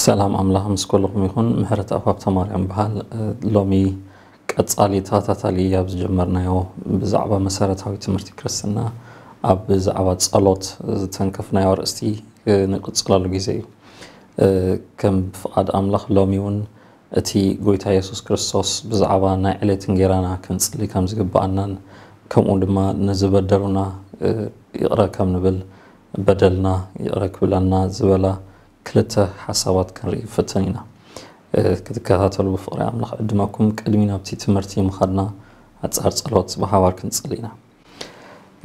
ሰላም ኣምላኽ ምስ ኩልኹም ይኹን። ምሕረት ኣብ ሃብተማርያም በሃል። ሎሚ ቀጻሊ ተኸታታሊ ኣብ ዝጀመርናዮ ብዛዕባ መሰረታዊ ትምህርቲ ክርስትና ኣብ ብዛዕባ ጸሎት ዝተንከፍናዮ ኣርእስቲ ንቕጽለሉ ግዜ እዩ። ከም ፍቓድ ኣምላኽ ሎሚ እውን እቲ ጎይታ የሱስ ክርስቶስ ብዛዕባ ናይ ዕለት እንጌራና ክንጽሊ ከም ዝግብኣናን ከምኡ ድማ ንዝበደሉና ይቕረ ከም ንብል በደልና ይቕረ ክብለና ዝበላ ክልተ ሓሳባት ክንርኢ ንፍትን ኢና። ክትከታተሉ ብፍቕሪ ኣምላኽ ዕድመኩም። ቅድሚ ናብቲ ትምህርቲ ምኻድና ኣጻር ጸሎት ብሓባር ክንጽሊ ኢና።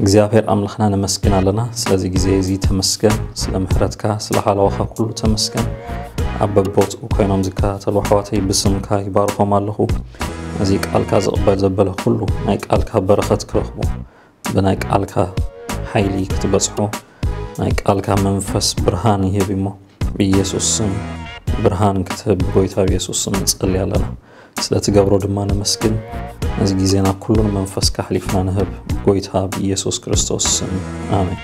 እግዚኣብሔር ኣምላኽና ነመስግን ኣለና ስለዚ ግዜ እዚ ተመስገን፣ ስለ ምሕረትካ ስለ ሓለዋኻ ኩሉ ተመስገን። ኣብ በቦትኡ ኮይኖም ዝከታተሉ ኣሕዋተይ ብስምካ ይባርኾም ኣለኹ። እዚ ቃልካ ዝቕበል ዘበለ ኩሉ ናይ ቃልካ በረኸት ክረኽቡ ብናይ ቃልካ ሓይሊ ክትበጽሖ ናይ ቃልካ መንፈስ ብርሃን ይህብ እሞ ብኢየሱስ ስም ብርሃን ክትህብ ብጎይታ ብኢየሱስ ስም ንጸሊ ኣለና። ስለ ትገብሮ ድማ ነመስግን። ነዚ ግዜና ኩሉን መንፈስካ ኣሕሊፍና ንህብ ጎይታ ብኢየሱስ ክርስቶስ ስም ኣሜን።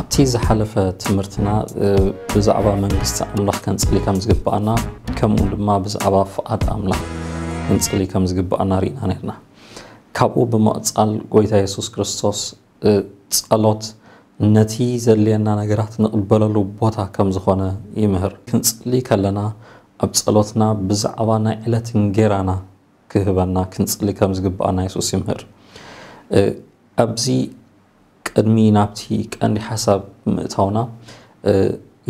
ኣብቲ ዝሓለፈ ትምህርትና ብዛዕባ መንግስቲ ኣምላኽ ከንጽሊ ከም ዝግብኣና ከምኡ ድማ ብዛዕባ ፍቓድ ኣምላኽ ክንጽሊ ከም ዝግብኣና ርኢና ነርና። ካብኡ ብምቕጻል ጎይታ የሱስ ክርስቶስ ጸሎት ነቲ ዘድልየና ነገራት ንቕበለሉ ቦታ ከም ዝኾነ ይምህር። ክንጽሊ ከለና ኣብ ጸሎትና ብዛዕባ ናይ ዕለት እንጌራና ክህበና ክንጽሊ ከም ዝግብኣና የሱስ ይምህር። ኣብዚ ቅድሚ ናብቲ ቀንዲ ሓሳብ ምእታውና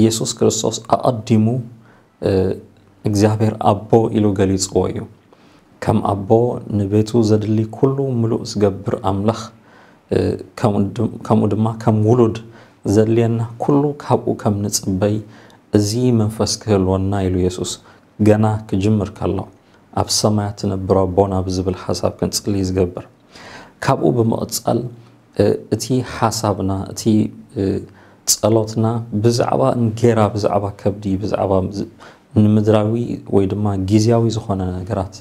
የሱስ ክርስቶስ ኣቐዲሙ እግዚኣብሔር ኣቦ ኢሉ ገሊጽዎ እዩ። ከም ኣቦ ንቤቱ ዘድሊ ኩሉ ምሉእ ዝገብር ኣምላኽ ከምኡ ድማ ከም ውሉድ ዘድልየና ኩሉ ካብኡ ከም ንጽበይ እዚ መንፈስ ክህልወና ኢሉ የሱስ ገና ክጅምር ከሎ ኣብ ሰማያት ትነብር ኣቦና ብዝብል ሓሳብ ክንጽሊ ዝገብር። ካብኡ ብምቕጻል እቲ ሓሳብና እቲ ጸሎትና ብዛዕባ እንጌራ ብዛዕባ ከብዲ ብዛዕባ ንምድራዊ ወይ ድማ ግዝያዊ ዝኾነ ነገራት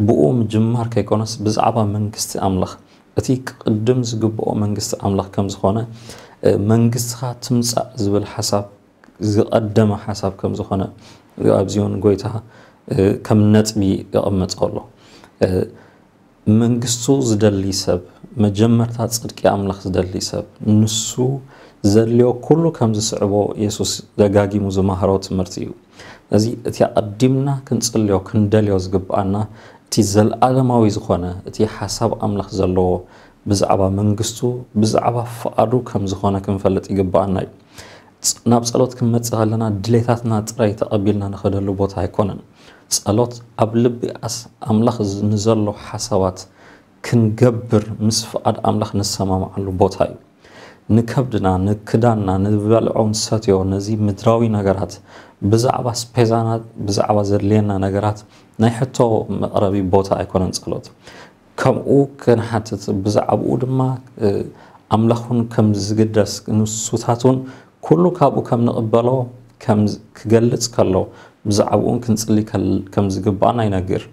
ብኡ ምጅማር ከይኮነስ ብዛዕባ መንግስቲ ኣምላኽ እቲ ክቕድም ዝግብኦ መንግስቲ ኣምላኽ ከም ዝኾነ መንግስትኻ ትምጻእ ዝብል ሓሳብ ዝቐደመ ሓሳብ ከም ዝኾነ ኣብዚውን ጎይታ ከም ነጥቢ የቐመጦ ኣሎ። መንግስቱ ዝደሊ ሰብ መጀመርታ ጽድቂ ኣምላኽ ዝደሊ ሰብ ንሱ ዘድልዮ ኩሉ ከም ዝስዕቦ የሱስ ደጋጊሙ ዝማህሮ ትምህርቲ እዩ። እዚ እቲ ኣቐዲምና ክንጽልዮ ክንደልዮ ዝግብኣና እቲ ዘለኣለማዊ ዝኾነ እቲ ሓሳብ ኣምላኽ ዘለዎ ብዛዕባ መንግስቱ ብዛዕባ ፍቓዱ ከም ዝኾነ ክንፈልጥ ይግብኣና እዩ። ናብ ጸሎት ክንመጽእ ከለና ድሌታትና ጥራይ ተቐቢልና ንኸደሉ ቦታ ኣይኮነን። ጸሎት ኣብ ልቢ ኣምላኽ ንዘሎ ሓሳባት ክንገብር ምስ ፍቓድ ኣምላኽ ንሰማምዓሉ ቦታ እዩ። ንከብድና ንክዳንና ንበልዖ ንሰትዮ ነዚ ምድራዊ ነገራት ብዛዕባ ስፔዛና ብዛዕባ ዘድልየና ነገራት ናይ ሕቶ መቕረቢ ቦታ ኣይኮነን ጸሎት። ከምኡ ክንሓትት ብዛዕባኡ ድማ ኣምላኽ እውን ከም ዝግደስ ንሱታት እውን ኩሉ ካብኡ ከም ንቕበሎ ክገልጽ ከሎ ብዛዕባኡ እውን ክንጽሊ ከም ዝግባኣና ይነግር።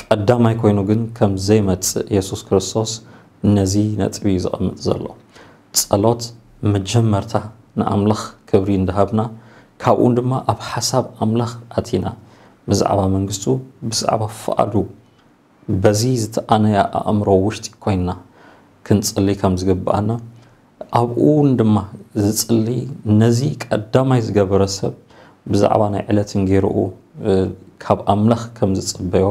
ቀዳማይ ኮይኑ ግን ከም ዘይመጽእ የሱስ ክርስቶስ ነዚ ነጥቢ እዩ ዘቐምጥ ዘሎ። ጸሎት መጀመርታ ንኣምላኽ ክብሪ እንዳሃብና ካብኡ ድማ ኣብ ሓሳብ ኣምላኽ ኣቲና ብዛዕባ መንግስቱ ብዛዕባ ፍቓዱ በዚ ዝተኣነያ ኣእምሮ ውሽጢ ኮይንና ክንጽሊ ከም ዝግብኣና ኣብኡ እውን ድማ ዝጽሊ ነዚ ቀዳማይ ዝገበረ ሰብ ብዛዕባ ናይ ዕለት እንጌርኡ ካብ ኣምላኽ ከም ዝጽበዮ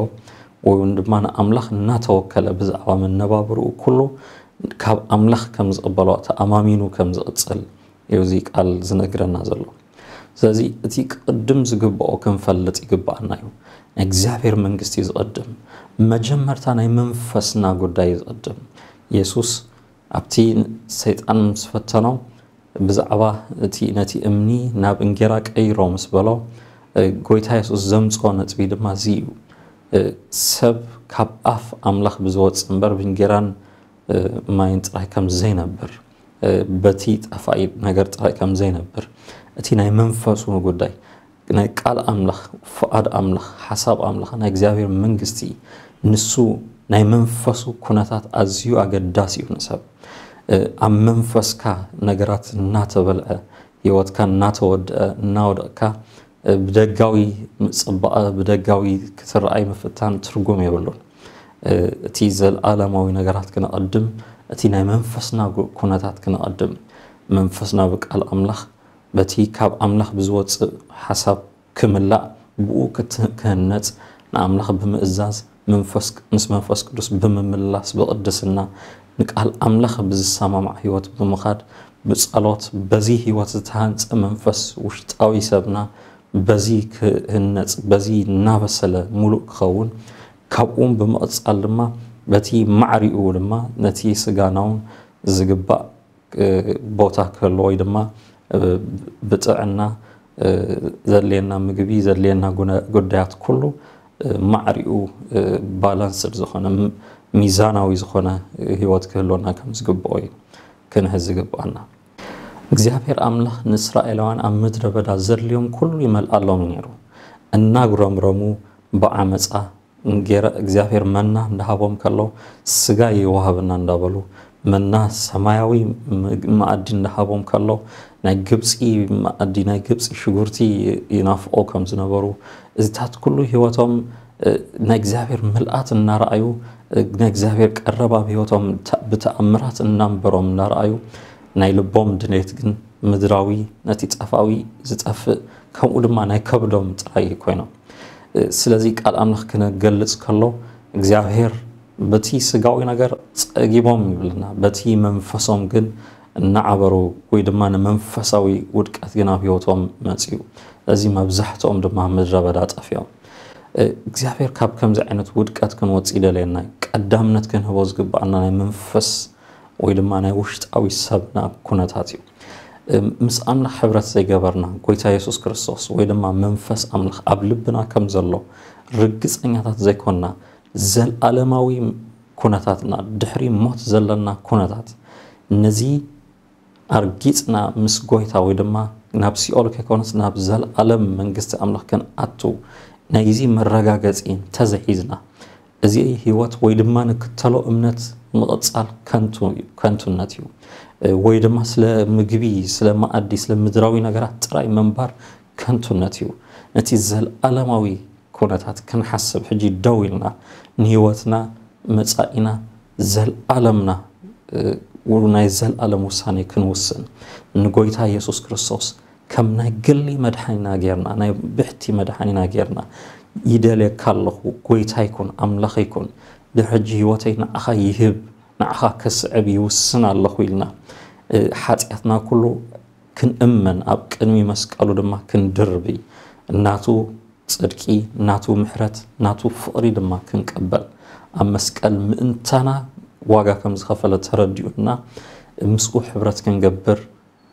ወይ እውን ድማ ንኣምላኽ እናተወከለ ብዛዕባ መነባብርኡ ኩሉ ካብ ኣምላኽ ከም ዝቕበሎ ተኣማሚኑ ከም ዝቕጽል እዩ እዚ ቃል ዝነግረና ዘሎ። ስለዚ እቲ ቅድም ዝግብኦ ክንፈልጥ ይግብኣና እዩ። ናይ እግዚኣብሔር መንግስቲ እዩ ዝቐድም። መጀመርታ ናይ መንፈስና ጉዳይ እዩ ዝቐድም። የሱስ ኣብቲ ሰይጣን ምስ ፈተኖ ብዛዕባ እቲ ነቲ እምኒ ናብ እንጌራ ቀይሮ ምስ በሎ፣ ጎይታ የሱስ ዘምጽኦ ነጥቢ ድማ እዚ እዩ። ሰብ ካብ ኣፍ ኣምላኽ ብዝወጽእ እምበር ብእንጌራን ማይን ጥራይ ከም ዘይነብር፣ በቲ ጠፋኢ ነገር ጥራይ ከም ዘይነብር፣ እቲ ናይ መንፈሱ ጉዳይ፣ ናይ ቃል ኣምላኽ፣ ፍቓድ ኣምላኽ፣ ሓሳብ ኣምላኽ፣ ናይ እግዚኣብሔር መንግስቲ፣ ንሱ ናይ መንፈሱ ኩነታት ኣዝዩ ኣገዳሲ እዩ ንሰብ። ኣብ መንፈስካ ነገራት እናተበልዐ፣ ህይወትካ እናተወድአ፣ እናወደቕካ፣ ብደጋዊ ጽባቐ፣ ብደጋዊ ክትረኣይ ምፍታን ትርጉም የብሉን። እቲ ዘለኣለማዊ ነገራት ክነቐድም፣ እቲ ናይ መንፈስና ጉ-፣ ኩነታት ክነቐድም፣ መንፈስና ብቃል ኣምላኽ፣ በቲ ካብ ኣምላኽ ብዝወጽእ ሓሳብ ክምላእ፣ ብኡ ክት-፣ ክህነጽ፣ ንኣምላኽ ብምእዛዝ፣ መንፈስ፣ ምስ መንፈስ ቅዱስ ብምምላስ፣ ብቕድስና፣ ንቃል ኣምላኽ ብዝሰማማዕ ህይወት ብምኻድ፣ ብጸሎት፣ በዚ ህይወት ዝተሃንጸ መንፈስ ውሽጣዊ ሰብና በዚ ክህነጽ፣ በዚ እናበሰለ ምሉእ ክኸውን፣ ካብኡም ብምቕጻል ድማ በቲ ማዕሪኡ ድማ ነቲ ስጋናውን ዝግባእ፣ እ፣ ቦታ ክህልዎ ወይ ድማ፣ እ፣ ብጥዕና፣ እ፣ ዘድልየና ምግቢ፣ ዘድልየና ጉነ-፣ ጉዳያት ኩሉ፣ እ፣ ማዕሪኡ፣ እ፣ ባላንስድ ዝኾነ፣ ም-፣ ሚዛናዊ ዝኾነ ህይወት ክህልወና ከም ዝግብኦ እዩ ክንሕዝ ዝግብኣና። እግዚኣብሔር ኣምላኽ ንእስራኤላውያን ኣብ ምድረ በዳ ዘድልዮም ኩሉ ይመልኣሎም እዩ ነይሩ። እናጉረምረሙ ብዓመፃ እንጌራ እግዚኣብሔር መና እንዳሃቦም ከሎ፣ ስጋ ይወሃበና እንዳበሉ፣ መና ሰማያዊ ም-፣ መኣዲ እንዳሃቦም ከሎ፣ ናይ ግብፂ መኣዲ፣ ናይ ግብፂ ሽጉርቲ ይናፍቆ ከም ዝነበሩ፣ እዚታት ኩሉ ህይወቶም፣ እ፣ ናይ እግዚኣብሔር ምልኣት እናረኣዩ፣ እ፣ ናይ እግዚኣብሔር ቀረብ ኣብ ህይወቶም ተ-፣ ብተኣምራት እናንበሮም እናረኣዩ፣ ናይ ልቦም ድሌት ግን ምድራዊ፣ ነቲ ጠፋዊ ዝጠፍእ፣ ከምኡ ድማ ናይ ከብዶም ጥራይ ኮይኖም። እ፣ ስለዚ ቃል ኣምላኽ ክነገልጽ ከሎ፣ እግዚኣብሔር በቲ ስጋዊ ነገር ጸጊቦም ይብልና፣ በቲ መንፈሶም ግን እናዓበሩ ወይ ድማ ንመንፈሳዊ ውድቀት ግን ኣብ ህይወቶም መጺኡ። ስለዚ መብዛሕትኦም ድማ ኣብ ምድረ በዳ ጠፊኦም። እ፣ እግዚኣብሔር ካብ ከምዚ ዓይነት ውድቀት ክንወጽእ ይደልየና እዩ። ቀዳምነት ክንህቦ ዝግብኣና ናይ መንፈስ ወይ ድማ ናይ ውሽጣዊ ሰብና ኩነታት እዩ። እ፣ ምስ ኣምላኽ ሕብረት ዘይገበርና፣ ጎይታ የሱስ ክርስቶስ ወይ ድማ መንፈስ ኣምላኽ ኣብ ልብና ከም ዘሎ ርግጸኛታት ዘይኮንና፣ ዘልኣለማዊ ኩነታትና፣ ድሕሪ ሞት ዘለና ኩነታት፣ ነዚ ኣርጊጽና ምስ ጎይታ ወይ ድማ ናብ ሲኦል ከይኮነስ ናብ ዘልኣለም መንግስቲ ኣምላኽ ክንኣቱ ናይዚ መረጋገጺ እንተዘይሒዝና፣ እዚ ህይወት ወይ ድማ ንክተሎ እምነት ምቕጻል ከንቱ እዩ፣ ከንቱነት እዩ። እ፣ ወይ ድማ ስለ ምግቢ፣ ስለ መኣዲ፣ ስለ ምድራዊ ነገራት ጥራይ ምንባር ከንቱነት እዩ። ነቲ ዘልኣለማዊ ኩነታት ክንሓስብ ሕጂ ደው ኢልና፣ ንህይወትና፣ መጻኢና፣ ዘልኣለምና፣ እ፣ ውሉ ናይ ዘልኣለም ውሳኔ ክንውስን፣ ንጎይታ የሱስ ክርስቶስ ከም ናይ ግሊ መድሓኒና ጌርና፣ ናይ ብሕቲ መድሓኒና ጌርና፣ "ይደልየካ ኣለኹ፣ ጎይታ ይኩን፣ ኣምላኽ ይኩን፣ ድሕጂ ህይወተይ ንዓኻ ይህብ፣ ንዓኻ ከስዕብ ይውስን ኣለኹ" ኢልና፣ እ፣ ሓጢኣትና ኩሉ ክንእመን፣ ኣብ ቅድሚ መስቀሉ ድማ ክንድርቢ፣ ናቱ ጽድቂ፣ ናቱ ምሕረት፣ ናቱ ፍቕሪ ድማ ክንቅበል፣ ኣብ መስቀል ምእንታና ዋጋ ከም ዝኸፈለ ተረዲኡና፣ ምስኡ ሕብረት ክንገብር፣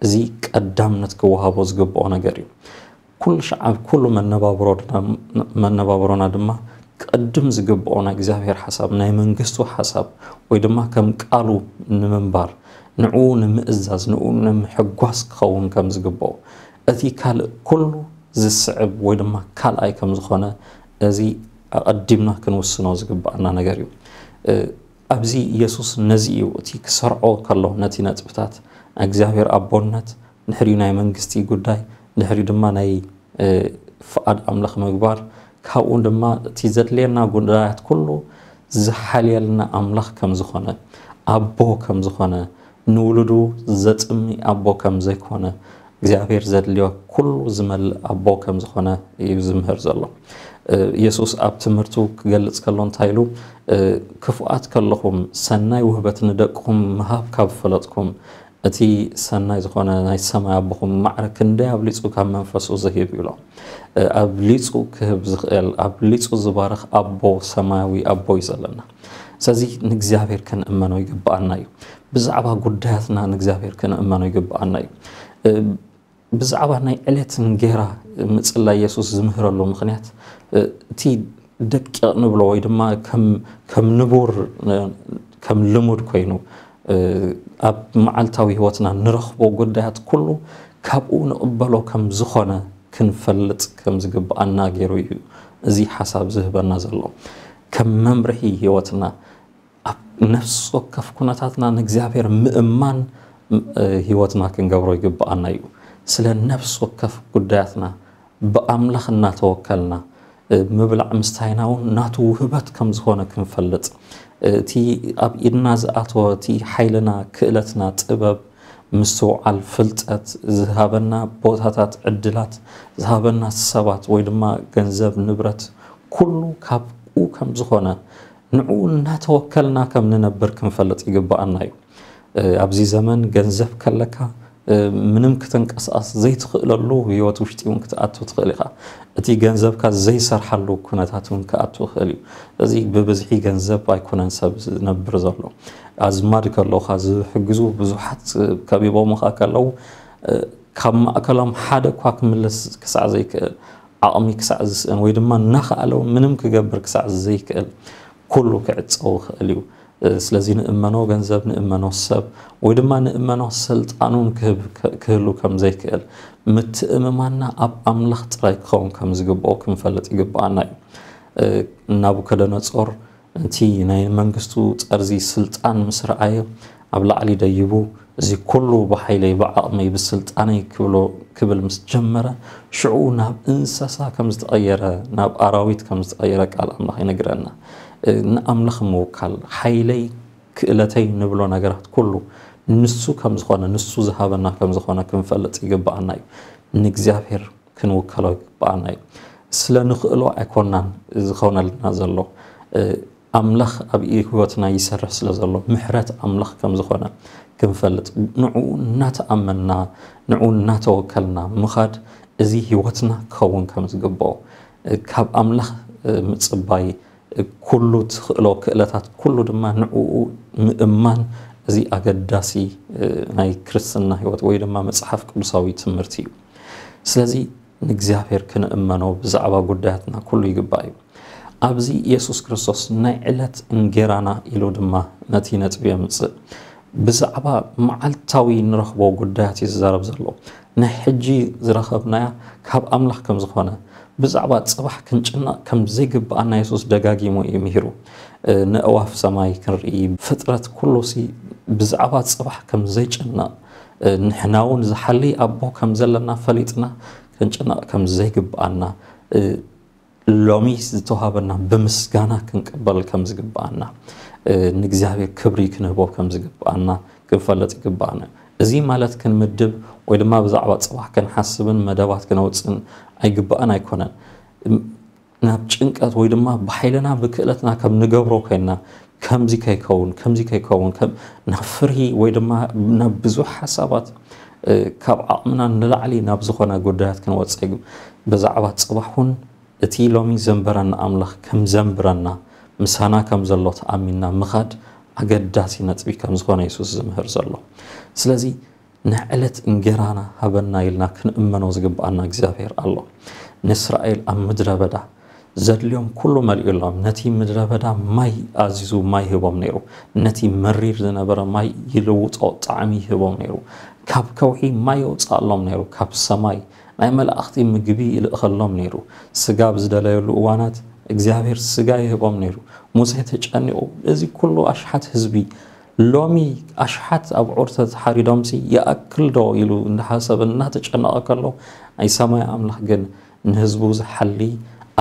እዚ ቀዳምነት ክወሃቦ ዝግብኦ ነገር እዩ። ኩሉ ሻዕ ኣብ ኩሉ መነባብሮና፣ መነባብሮና ድማ ቅድም ዝግብኦ ናይ እግዚኣብሔር ሓሳብ፣ ናይ መንግስቱ ሓሳብ፣ ወይ ድማ ከም ቃሉ ንምንባር፣ ንዕኡ ንምእዛዝ፣ ንዕኡ ንምሕጓስ ክኸውን ከም ዝግብኦ፣ እቲ ካልእ ኩሉ ዝስዕብ ወይ ድማ ካልኣይ ከም ዝኾነ፣ እዚ ኣቐዲምና ክንውስኖ ዝግብኣና ነገር እዩ። እ፣ ኣብዚ የሱስ ነዚ እዩ እቲ ክሰርዖ ከሎ፣ ነቲ ነጥብታት ናይ እግዚኣብሔር ኣቦነት፣ ድሕሪኡ ናይ መንግስቲ ጉዳይ፣ ድሕሪኡ ድማ ናይ፣ እ፣ ፍቓድ ኣምላኽ ምግባር፣ ካብኡ ድማ እቲ ዘድልየና ጉዳያት ኩሉ ዝሓልየልና ኣምላኽ ከም ዝኾነ፣ ኣቦ ከም ዝኾነ፣ ንውሉዱ ዘጥሚ ኣቦ ከም ዘይኮነ፣ እግዚኣብሔር ዘድልዮ ኩሉ ዝመልእ ኣቦ ከም ዝኾነ እዩ ዝምህር ዘሎ። እ፣ የሱስ ኣብ ትምህርቱ ክገልጽ ከሎ እንታይ ኢሉ? እ፣ "ክፉኣት ከለኹም ሰናይ ውህበት ንደቅኹም ምሃብ ካብ ፈለጥኩም፣ እቲ ሰናይ ዝኾነ ናይ ሰማይ ኣቦኹም ማዕረ ክንደይ ኣብሊጹ ካብ መንፈሱ ዝህብ ይብሎ። እ፣ ኣብሊጹ ክህብ ዝኽእል፣ ኣብሊጹ ዝባርኽ ኣቦ፣ ሰማያዊ ኣቦ እዩ ዘለና። ስለዚ ንእግዚኣብሔር ክንእመኖ ይግብኣና እዩ። ብዛዕባ ጉዳያትና ንእግዚኣብሔር ክንእመኖ ይግብኣና እዩ። እ፣ ብዛዕባ ናይ ዕለት እንጌራ ምጽላይ የሱስ ዝምህረሉ ምኽንያት፣ እ፣ እቲ ደቂቕ ንብሎ ወይ ድማ ከም፣ ከም ንቡር፣ እ፣ ከም ልሙድ ኮይኑ፣ እ፣ ኣብ መዓልታዊ ህይወትና ንረኽቦ ጉዳያት ኩሉ ካብኡ ንቕበሎ ከም ዝኾነ ክንፈልጥ ከም ዝግብኣና ገይሩ እዩ እዚ ሓሳብ ዝህበና ዘሎ። ከም መምርሒ ህይወትና ኣብ ነፍሲ ወከፍ ኩነታትና ንእግዚኣብሔር ምእማን፣ እ፣ ህይወትና ክንገብሮ ይግብኣና እዩ። ስለ ነፍሲ ወከፍ ጉዳያትና ብኣምላኽ እናተወከልና፣ እ፣ ምብላዕ ምስታይና እውን ናቱ ውህበት ከም ዝኾነ ክንፈልጥ፣ እ፣ እቲ ኣብ ኢድና ዝኣተወ እቲ ሓይልና፣ ክእለትና፣ ጥበብ፣ ምስትውዓል፣ ፍልጠት፣ ዝሃበና ቦታታት፣ ዕድላት፣ ዝሃበና ሰባት ወይ ድማ ገንዘብ፣ ንብረት፣ ኩሉ ካብኡ ከም ዝኾነ ንዕኡ እናተወከልና ከም ንነብር ክንፈልጥ ይግብኣና እዩ። እ፣ ኣብዚ ዘመን ገንዘብ ከለካ፣ እ፣ ምንም ክትንቀሳቐስ ዘይትኽእለሉ ህይወት ውሽጢ እውን ክትኣቱ ትኽእል ኢኻ። እቲ ገንዘብካ ዘይሰርሓሉ ኩነታት እውን ክኣቱ ይኽእል እዩ። እዚ ብብዝሒ ገንዘብ ኣይኮነን ሰብ ዝነብር ዘሎ። ኣዝማድ ከለውኻ ዝሕግዙ ብዙሓት ከቢቦምኻ ከለዉ፣ እ፣ ካብ ማእከሎም ሓደ እኳ ክምልስ ክሳዕ ዘይክእል፣ ዓቕሚ ክሳዕ ዝስእን ወይ ድማ እናኸኣለ እውን ምንም ክገብር ክሳዕ ዘይክእል ኩሉ ክዕጸው ይኽእል እዩ። እ፣ ስለዚ ንእመኖ ገንዘብ፣ ንእመኖ ሰብ ወይ ድማ ንእመኖ ስልጣን እውን ክህብ-፣ ክህሉ ከም ዘይክእል፣ ምትእምማንና ኣብ ኣምላኽ ጥራይ ክኸውን ከም ዝግብኦ ክንፈልጥ ይግብኣና እዩ። እ፣ ናቡከደነጾር እቲ ናይ መንግስቱ ጠርዚ ስልጣን ምስ ረኣየ ኣብ ላዕሊ ደይቡ፣ "እዚ ኩሉ ብሓይለይ፣ ብዓቕመይ፣ ብስልጣነይ" ክብሎ፣ ክብል ምስ ጀመረ፣ ሽዑ ናብ እንስሳ ከም ዝተቐየረ፣ ናብ ኣራዊት ከም ዝተቐየረ ቃል ኣምላኽ ይነግረና። እ፣ ንኣምላኽ ምውካል፣ ሓይለይ፣ ክእለተይ ንብሎ ነገራት ኩሉ ንሱ ከም ዝኾነ፣ ንሱ ዝሃበና ከም ዝኾነ ክንፈልጥ ይግብኣና እዩ። ንእግዚኣብሔር ክንውከሎ ይግብኣና እዩ። ስለ ንኽእሎ ኣይኮናን ዝኾነልና ዘሎ። እ፣ ኣምላኽ ኣብ ህይወትና ይሰርሕ ስለ ዘሎ፣ ምሕረት ኣምላኽ ከም ዝኾነ ክንፈልጥ፣ ንዕኡ እናተኣመንና፣ ንዕኡ እናተወከልና ምኻድ፣ እዚ ህይወትና ክኸውን ከም ዝግብኦ፣ እ፣ ካብ ኣምላኽ፣ እ፣ ምጽባይ፣ እ፣ ኩሉ ትኽእሎ ክእለታት ኩሉ ድማ ንዕኡ ምእማን፣ እዚ ኣገዳሲ፣ እ፣ ናይ ክርስትና ህይወት ወይ ድማ መጽሓፍ ቅዱሳዊ ትምህርቲ እዩ። ስለዚ ንእግዚኣብሔር ክንእመኖ ብዛዕባ ጉዳያትና ኩሉ ይግባእ እዩ። ኣብዚ የሱስ ክርስቶስ ናይ ዕለት እንጌራና ኢሉ ድማ ነቲ ነጥቢ የምጽእ። ብዛዕባ መዓልታዊ ንረኽቦ ጉዳያት እዩ ዝዛረብ ዘሎ። ናይ ሕጂ ዝረኸብናያ ካብ ኣምላኽ ከም ዝኾነ፣ ብዛዕባ ጽባሕ ክንጭነቕ ከም ዘይግብኣና የሱስ ደጋጊሙ እዩ ምሂሩ። እ፣ ነእዋፍ ሰማይ ክንርኢ፣ ፍጥረት ኩሉሲ ብዛዕባ ጽባሕ ከም ዘይጭነቕ፣ እ፣ ንሕና እውን ዝሓሊ ኣቦ ከም ዘለና ፈሊጥና ክንጭነቕ ከም ዘይግብኣና፣ እ፣ ሎሚ ዝተዋሃበና ብምስጋና ክንቅበል ከም ዝግብኣና፣ እ፣ ንእግዚኣብሔር ክብሪ ክንህቦ ከም ዝግብኣና ክንፈልጥ ይግብኣና። እዚ ማለት ክንምድብ ወይ ድማ ብዛዕባ ጽባሕ ክንሓስብን መደባት ክነውጽእን ኣይግብኣን ኣይኮነን። እም፣ ናብ ጭንቀት ወይ ድማ ብሓይልና ብክእለትና ከም ንገብሮ ኮይንና፣ ከምዚ ከይከውን፣ ከምዚ ከይከውን፣ ከም ናብ ፍርሂ ወይ ድማ ናብ ብዙሕ ሓሳባት፣ እ፣ ካብ ዓቕምና ንላዕሊ ናብ ዝኾነ ጉዳያት ክንወጽእ ይግብ-፣ ብዛዕባ ጽባሕ እውን እቲ ሎሚ ዘንበረና ኣምላኽ ከም ዘንብረና፣ ምሳና ከም ዘሎ ተኣሚንና ምኻድ ኣገዳሲ ነጥቢ ከም ዝኾነ የሱስ ዝምህር ዘሎ። ስለዚ፣ "ንዕለት እንጌራና ሃበና" ኢልና ክንእመኖ ዝግብኣና እግዚኣብሔር ኣሎ። ንእስራኤል ኣብ ምድረ በዳ ዘድልዮም ኩሉ መሊኡሎም፣ ነቲ ምድረ በዳ ማይ ኣዚዙ ማይ ይህቦም ነይሩ። ነቲ መሪር ዝነበረ ማይ ይልውጦ ጣዕሚ ይህቦም ነይሩ። ካብ ከውሒ ማይ የውጽኣሎም ነይሩ። ካብ ሰማይ ናይ መላእኽቲ ምግቢ ይልእኸሎም ነይሩ። ስጋ ኣብ ዝደለየሉ እዋናት እግዚኣብሔር ስጋ ይህቦም ነይሩ። ሙሴ ተጨኒቑ፣ "እዚ ኩሉ ኣሽሓት ህዝቢ ሎሚ ኣሽሓት ኣብዑር ተተሓሪዶምሲ ይኣክል ዶ?" ኢሉ እንዳሓሰበ እናተጨነቐ ከሎ፣ ናይ ሰማይ ኣምላኽ ግን ንህዝቡ ዝሓሊ፣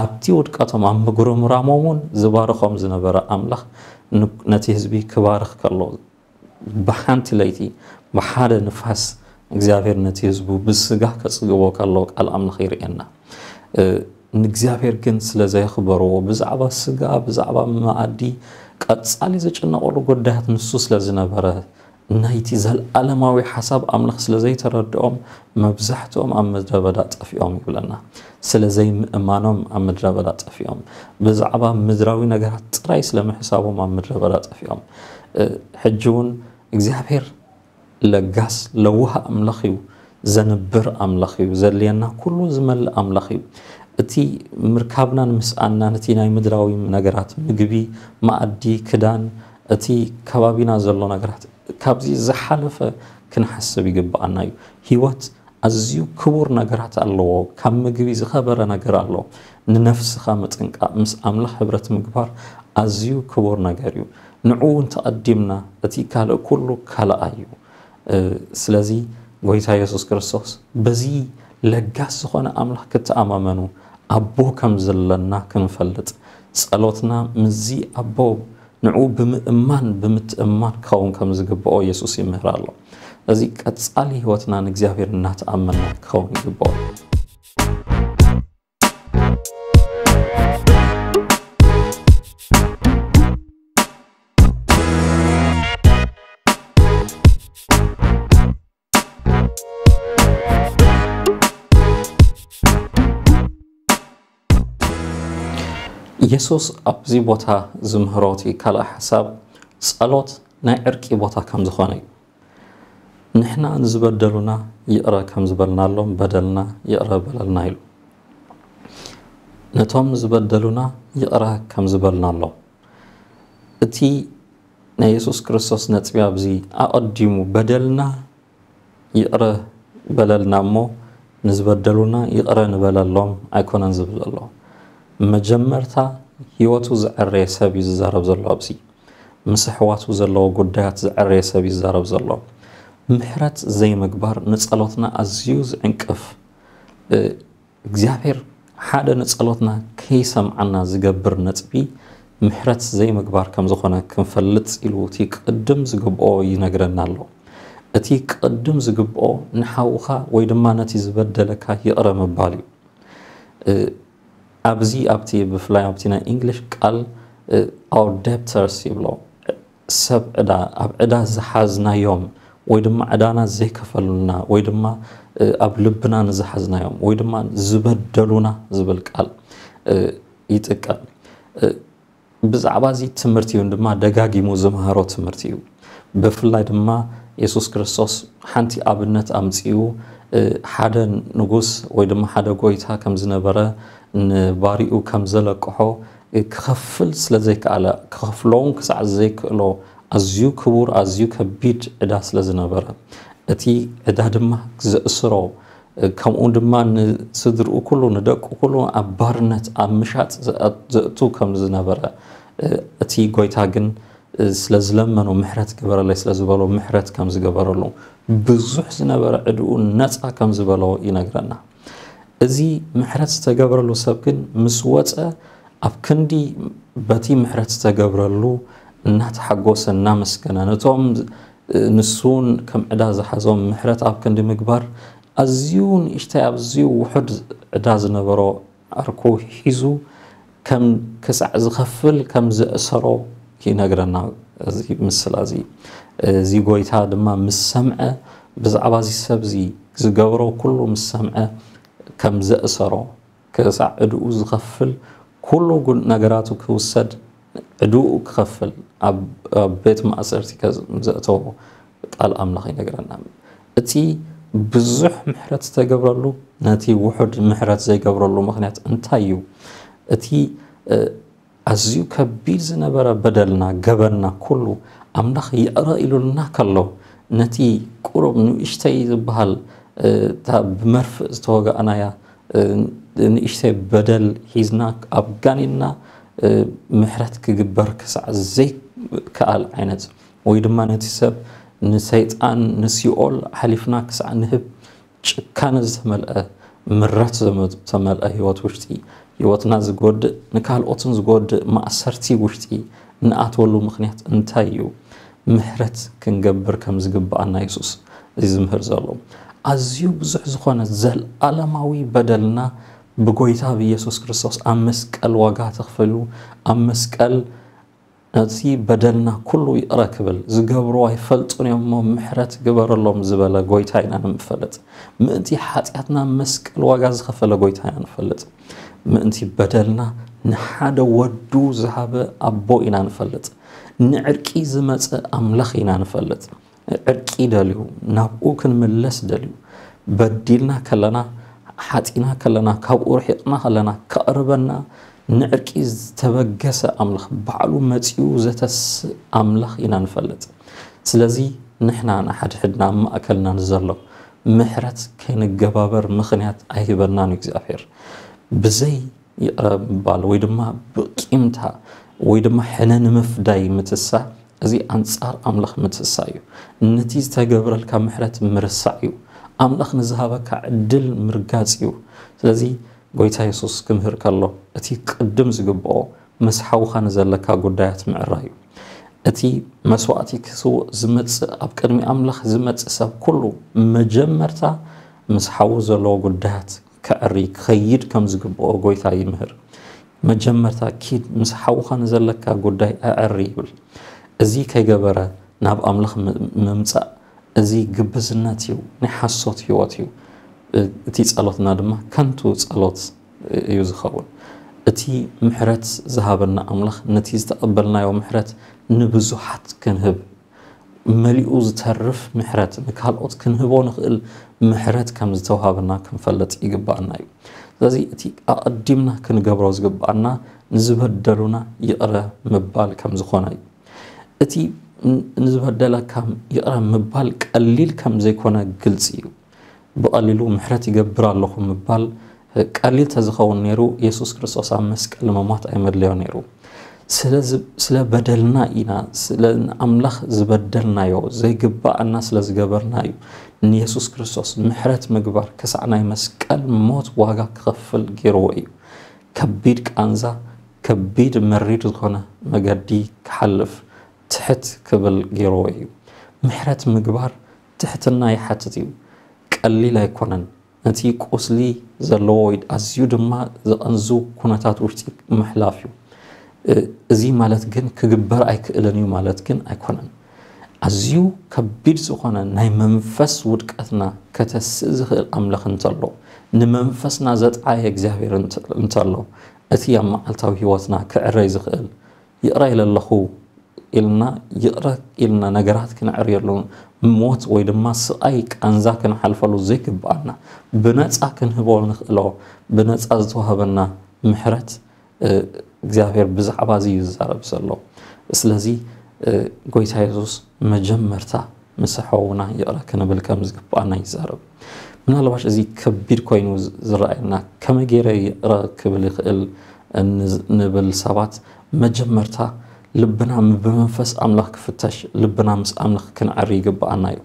ኣብቲ ውድቀቶም ኣብ ምጉርምራሞም እውን ዝባርኾም ዝነበረ ኣምላኽ ን-፣ ነቲ ህዝቢ ክባርኽ ከሎ፣ ብሓንቲ ለይቲ ብሓደ ንፋስ እግዚኣብሔር ነቲ ህዝቡ ብስጋ ከጽግቦ ከሎ ቃል ኣምላኽ የርእየና። እ፣ ንእግዚኣብሔር ግን ስለ ዘየኽበርዎ፣ ብዛዕባ ስጋ፣ ብዛዕባ መኣዲ ቀጻሊ ዝጭነቐሉ ጉዳያት ንሱ ስለ ዝነበረ፣ ናይቲ ዘለኣለማዊ ሓሳብ ኣምላኽ ስለ ዘይተረድኦም፣ መብዛሕትኦም ኣብ ምድረ በዳ ጠፊኦም ይብለና። ስለ ዘይምእማኖም ኣብ ምድረ በዳ ጠፊኦም። ብዛዕባ ምድራዊ ነገራት ጥራይ ስለ ምሕሳቦም ኣብ ምድረ በዳ ጠፊኦም። እ፣ ሕጂ እውን እግዚኣብሔር ለጋስ ለዋህ ኣምላኽ እዩ። ዘንብር ኣምላኽ እዩ። ዘድልየና ኩሉ ዝመልእ ኣምላኽ እዩ። እቲ ምርካብናን ምስኣናን፣ እቲ ናይ ምድራዊ ነገራት፣ ምግቢ፣ መኣዲ፣ ክዳን፣ እቲ ከባቢና ዘሎ ነገራት፣ ካብዚ ዝሓለፈ ክንሓስብ ይግብኣና እዩ። ህይወት ኣዝዩ ክቡር ነገራት ኣለዎ። ካብ ምግቢ ዝኸበረ ነገር ኣሎ። ንነፍስኻ ምጥንቃቕ፣ ምስ ኣምላኽ ሕብረት ምግባር ኣዝዩ ክቡር ነገር እዩ። ንዕኡ እንተቐዲምና፣ እቲ ካልእ ኩሉ ካልኣይ እዩ። እ፣ ስለዚ ጎይታ የሱስ ክርስቶስ በዚ ለጋስ ዝኾነ ኣምላኽ ክትኣማመኑ፣ ኣቦ ከም ዘለና ክንፈልጥ፣ ጸሎትና ምስዚ ኣቦ ንዕኡ ብምእማን፣ ብምትእምማን ክኸውን ከም ዝግብኦ የሱስ ይምህር ኣሎ። እዚ ቀጻሊ ህይወትና ንእግዚኣብሔር እናተኣመና ክኸውን ይግብኦ። የሱስ ኣብዚ ቦታ ዝምህሮ እቲ ካልእ ሓሳብ ጸሎት ናይ ዕርቂ ቦታ ከም ዝኾነ እዩ። ንሕና ንዝበደሉና ይቕረ ከም ዝበልናሎም በደልና ይቕረ በለልና ኢሉ። ነቶም ዝበደሉና ይቕረ ከም ዝበልናሎም። እቲ ናይ የሱስ ክርስቶስ ነጥቢ ኣብዚ ኣቐዲሙ በደልና ይቕረ በለልና እሞ ንዝበደሉና ይቕረ ንበለሎም ኣይኮነን ዝብል ዘሎ። መጀመርታ ህይወቱ ዘዐረየ ሰብ እዩ ዝዛረብ ዘሎ ኣብዚ። ምስ ኣሕዋቱ ዘለዎ ጉዳያት ዘዐረየ ሰብ እዩ ዝዛረብ ዘሎ። ምሕረት ዘይምግባር ንጸሎትና ኣዝዩ ዝዕንቅፍ፣ እ፣ እግዚኣብሔር ሓደ ንጸሎትና ከይሰምዓና ዝገብር ነጥቢ ምሕረት ዘይምግባር ከም ዝኾነ ክንፈልጥ ኢሉ እቲ ቅድም ዝግብኦ ይነግረና ኣሎ። እቲ ቅድም ዝግብኦ ንሓውኻ ወይ ድማ ነቲ ዝበደለካ ይቕረ ምባል እዩ። እ፣ ኣብዚ ኣብቲ ብፍላይ ኣብቲ ናይ እንግሊሽ ቃል፣ እ፣ our debtors ይብሎ። ሰብ ዕዳ፣ ኣብ ዕዳ ዝሓዝናዮም ወይ ድማ ዕዳና ዘይከፈሉልና ወይ ድማ፣ እ፣ ኣብ ልብና ንዝሓዝናዮም ወይ ድማ ዝበደሉና ዝብል ቃል፣ እ፣ ይጥቀም። እ፣ ብዛዕባ እዚ ትምህርቲ እውን ድማ ደጋጊሙ ዝመሃሮ ትምህርቲ እዩ። ብፍላይ ድማ የሱስ ክርስቶስ ሓንቲ ኣብነት ኣምጺኡ፣ እ፣ ሓደ ንጉስ ወይ ድማ ሓደ ጎይታ ከም ዝነበረ፣ ንባሪኡ ከም ዘለቅሖ፣ እ፣ ክኸፍል ስለ ዘይከኣለ፣ ክኸፍሎ እውን ክሳዕ ዘይክእሎ ኣዝዩ ክቡር፣ ኣዝዩ ከቢድ ዕዳ ስለ ዝነበረ፣ እቲ ዕዳ ድማ ዘእስሮ፣ እ፣ ከምኡ ድማ ንስድርኡ ኩሉ፣ ንደቁ ኩሉ ኣብ ባርነት፣ ኣብ ምሻጥ ዘእ-፣ ዘእቱ ከም ዝነበረ፣ እ፣ እቲ ጎይታ ግን፣ እ፣ ስለ ዝለመኖ፣ ምሕረት ግበረለይ ስለ ዝበሎ፣ ምሕረት ከም ዝገበረሉ፣ ብዙሕ ዝነበረ ዕድኡ ነጻ ከም ዝበሎ ይነግረና። እዚ ምሕረት ዝተገብረሉ ሰብ ግን ምስ ወጸ፣ ኣብ ክንዲ በቲ ምሕረት ዝተገብረሉ እናተሓጎሰ፣ እናመስገነ፣ ነቶም ንሱ እውን ከም ዕዳ ዝሓዞም ምሕረት ኣብ ክንዲ ምግባር፣ ኣዝዩ ንእሽተይ፣ ኣዝዩ ውሑድ ዕዳ ዝነበሮ ዓርኩ ሒዙ ከም ክሳዕ ዝኸፍል ከም ዘእሰሮ ይነግረና እዚ ምስላ እዚ። እዚ ጎይታ ድማ ምስ ሰምዐ፣ ብዛዕባ እዚ ሰብ እዚ ዝገብሮ ኩሉ ምስ ሰምዐ፣ ከም ዘእሰሮ፣ ክሳዕ ዕድኡ ዝኸፍል፣ ኩሉ ጉ-፣ ነገራቱ ክውሰድ፣ ዕድኡ ክኸፍል፣ ኣብ፣ ኣብ ቤት ማእሰርቲ ከ-፣ ዘእተዎ ቃል ኣምላኽ ይነግረና። እቲ ብዙሕ ምሕረት ዝተገብረሉ፣ ነቲ ውሑድ ምሕረት ዘይገብረሉ ምኽንያት እንታይ እዩ? እቲ፣ እ፣ ኣዝዩ ከቢድ ዝነበረ በደልና፣ ገበንና ኩሉ ኣምላኽ ይቕረ ኢሉልና ከሎ፣ ነቲ ቁሩብ ንእሽተይ ዝበሃል፣ እ፣ እታ ብመርፍእ ዝተወጋእናያ፣ እ፣ ንእሽተይ በደል ሒዝና ኣብ ጋኔንና፣ እ፣ ምሕረት ክግበር ክሳዕ ዘይከኣል ዓይነት፣ ወይ ድማ ነቲ ሰብ፣ ንሰይጣን፣ ንሲኦል ሓሊፍና ክሳዕ ንህብ ጭካነ ዝተመልአ፣ ምረት ዘመ-፣ ዝተመልአ ህይወት ውሽጢ፣ ህይወትና ዝጎድእ፣ ንካልኦትን ዝጎድእ ማእሰርቲ ውሽጢ ንኣትወሉ ምኽንያት እንታይ እዩ? ምሕረት ክንገብር ከም ዝግብኣና የሱስ እዩ ዝምህር ዘሎ። ኣዝዩ ብዙሕ ዝኾነ ዘለኣለማዊ በደልና ብጎይታ ብየሱስ ክርስቶስ ኣብ መስቀል ዋጋ ተኽፈሉ፣ ኣብ መስቀል ነቲ በደልና ኩሉ ይቕረ ክብል፣ ዝገብርዎ ኣይፈልጡን እዮም እሞ ምሕረት ግበረሎም ዝበለ ጎይታ ኢና ንፈልጥ። ምእንቲ ሓጢኣትና መስቀል ዋጋ ዝኸፈለ ጎይታ ኢና ንፈልጥ። ምእንቲ በደልና ንሓደ ወዱ ዝሃበ ኣቦ ኢና ንፈልጥ። ንዕርቂ ዝመጸ ኣምላኽ ኢና ንፈልጥ። ዕርቂ ደልዩ፣ ናብኡ ክንምለስ ደልዩ። በዲልና ከለና፣ ሓጢና ከለና፣ ካብኡ ርሒቕና ከለና፣ ከቕርበና ንዕርቂ ዝተበገሰ ኣምላኽ፣ ባዕሉ መጺኡ ዘተስእ ኣምላኽ ኢና ንፈልጥ። ስለዚ ንሕና ንሓድሕድና ኣብ ማእከልና ንዘሎ ምሕረት ከይንገባበር ምኽንያት ኣይህበናን እዩ እግዚኣብሔር። ብዘይ ይቕረ ምባል ወይ ድማ ብቂምታ ወይ ድማ ሕነ ንምፍዳይ ምትሳ፣ እዚ ኣንጻር ኣምላኽ ምትሳ እዩ። ነቲ ዝተገብረልካ ምሕረት ምርሳዕ እዩ። ኣምላኽ ንዝሃበካ ዕድል ምርጋጽ እዩ። ስለዚ ጎይታ የሱስ ክምህር ከሎ፣ እቲ ቅድም ዝግብኦ ምስ ሓውኻ ንዘለካ ጉዳያት ምዕራይ እዩ። እቲ መስዋእቲ ክስውእ ዝመጽእ፣ ኣብ ቅድሚ ኣምላኽ ዝመጽእ ሰብ ኩሉ መጀመርታ ምስ ሓዉ ዘለዎ ጉዳያት ከዕሪ ክኸይድ ከም ዝግብኦ ጎይታ ይምህር። መጀመርታ ኪድ ምስ ሓውኻ ንዘለካ ጉዳይ ኣዕሪ ይብል። እዚ ከይገበረ ናብ ኣምላኽ ም-፣ ምምጻእ፣ እዚ ግብዝነት እዩ፣ ናይ ሓሶት ህይወት እዩ። እ-፣ እቲ ጸሎትና ድማ ከንቱ ጸሎት እዩ ዝኸውን። እቲ ምሕረት ዝሃበና ኣምላኽ ነቲ ዝተቐበልናዮ ምሕረት ንብዙሓት ክንህብ፣ መሊኡ ዝተርፍ ምሕረት፣ ንካልኦት ክንህቦ ንኽእል ምሕረት ከም ዝተውሃበና ክንፈልጥ ይግባኣና እዩ። ስለዚ እቲ ኣቐዲምና ክንገብሮ ዝግባኣና ንዝበደሉና ይቕረ ምባል ከም ዝኾነ እዩ። እቲ ን-፣ ንዝበደለካ ይቕረ ምባል ቀሊል ከም ዘይኮነ ግልጺ እዩ። ብቐሊሉ ምሕረት ይገብር ኣለኹ ምባል ቀሊል ተዝኸውን ነይሩ፣ የሱስ ክርስቶስ ኣብ መስቀል ምሞት ኣይመድለዮ ነይሩ። ስለ ዝ-፣ ስለ በደልና ኢና፣ ስለ ንኣምላኽ ዝበደልናዮ፣ ዘይግባኣና ስለ ዝገበርና እዩ ንየሱስ ክርስቶስ ምሕረት ምግባር ክሳዕ ናይ መስቀል ሞት ዋጋ ክኸፍል ገይርዎ እዩ። ከቢድ ቃንዛ፣ ከቢድ መሪር ዝኾነ መገዲ ክሓልፍ ትሕት ክብል ገይርዎ እዩ። ምሕረት ምግባር ትሕትና ይሓትት እዩ። ቀሊል ኣይኮነን። ነቲ ቁስሊ ዘለዎ ወይ ኣዝዩ ድማ ዘቐንዙ ኩነታት ውሽጢ ምሕላፍ እዩ። እ-፣ እዚ ማለት ግን ክግበር ኣይክእልን እዩ ማለት ግን ኣይኮነን። ኣዝዩ ከቢድ ዝኾነ ናይ መንፈስ ውድቀትና ከተስእ ዝኽእል ኣምላኽ እንተሎ፣ ንመንፈስና ዘጥዓየ እግዚኣብሔር እንተ-፣ እንተሎ፣ እቲ ኣብ መዓልታዊ ህይወትና ክዕረይ ዝኽእል፣ ይቕረ ኢለ ኣለኹ ኢልና፣ ይቕረ ኢልና ነገራት ክነዕርየሉ፣ ሞት ወይ ድማ ስቓይ ቃንዛ ክንሓልፈሉ ዘይግብኣና፣ ብነጻ ክንህቦ ንኽእሎ፣ ብነጻ ዝተዋህበና ምሕረት፣ እ፣ እግዚኣብሔር ብዛዕባ እዚ እዩ ዝዛረብ ዘሎ። ስለዚ፣ እ፣ ጎይታ የሱስ መጀመርታ ምስ ሓውና ይቕረ ክንብል ከም ዝግብኣና ይዛረብ። ምናልባሽ እዚ ከቢድ ኮይኑ ዝ-፣ ዝረኣየና፣ ከመይ ገይረ ይቕረ ክብል ይኽእል ን-፣ ንብል ሰባት፣ መጀመርታ ልብና ም-፣ ብመንፈስ ኣምላኽ ክፍተሽ፣ ልብና ምስ ኣምላኽ ክንዕሪ ይግብኣና እዩ።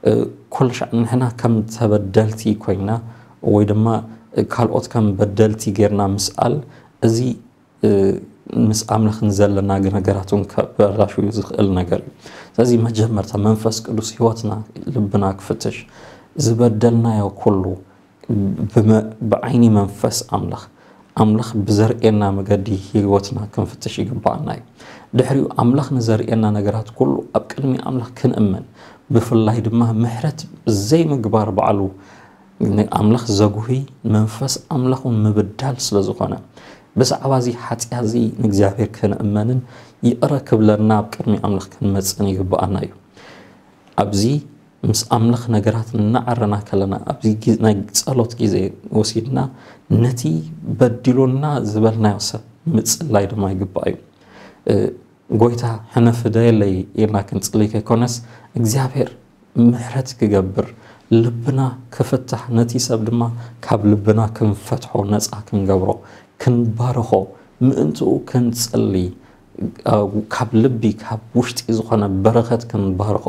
እ፣ ኩሉ ሻዕ ንሕና ከም ተበደልቲ ኮይና ወይ ድማ ካልኦት ከም በደልቲ ጌርና ምስኣል፣ እዚ እ፣ ምስ ኣምላኽ ንዘለና ነገራት እውን ከበላሹ ዝኽእል ነገር እዩ። ስለዚ መጀመርታ መንፈስ ቅዱስ ህይወትና፣ ልብና ክፍትሽ፣ ዝበደልናዮ ኩሉ ብመ-፣ ብዓይኒ መንፈስ ኣምላኽ፣ ኣምላኽ ብዘርእየና መገዲ ህይወትና ክንፍትሽ ይግባኣና እዩ። ድሕሪኡ ኣምላኽ ንዘርእየና ነገራት ኩሉ ኣብ ቅድሚ ኣምላኽ ክንእመን፣ ብፍላይ ድማ ምሕረት ዘይምግባር ባዕሉ ንኣምላኽ ዘጉሂ መንፈስ ኣምላኽ እውን ምብዳል ስለ ዝኾነ፣ ብዛዕባ እዚ ሓጢኣት እዚ ንእግዚኣብሔር ክንእመንን ይቕረ ክብለና ኣብ ቅድሚ ኣምላኽ ክንመጽእን ይግብኣና እዩ። ኣብዚ ምስ ኣምላኽ ነገራት እናዓረና ከለና፣ ኣብዚ ጊ-፣ ናይ ጸሎት ግዜ ወሲድና ነቲ በዲሉና ዝበልናዮ ሰብ ምጽላይ ድማ ይግባእ እዩ። እ፣ ጎይታ ሕነ ፍደየለይ ኢልና ክንጽሊ ከይኮነስ፣ እግዚኣብሔር ምሕረት ክገብር፣ ልብና ክፍታሕ፣ ነቲ ሰብ ድማ ካብ ልብና ክንፈትሖ፣ ነጻ ክንገብሮ፣ ክንባርኾ፣ ምእንትኡ ክንጽሊ፣ እ፣ ካብ ልቢ፣ ካብ ውሽጢ ዝኾነ በረኸት ክንባርኾ፣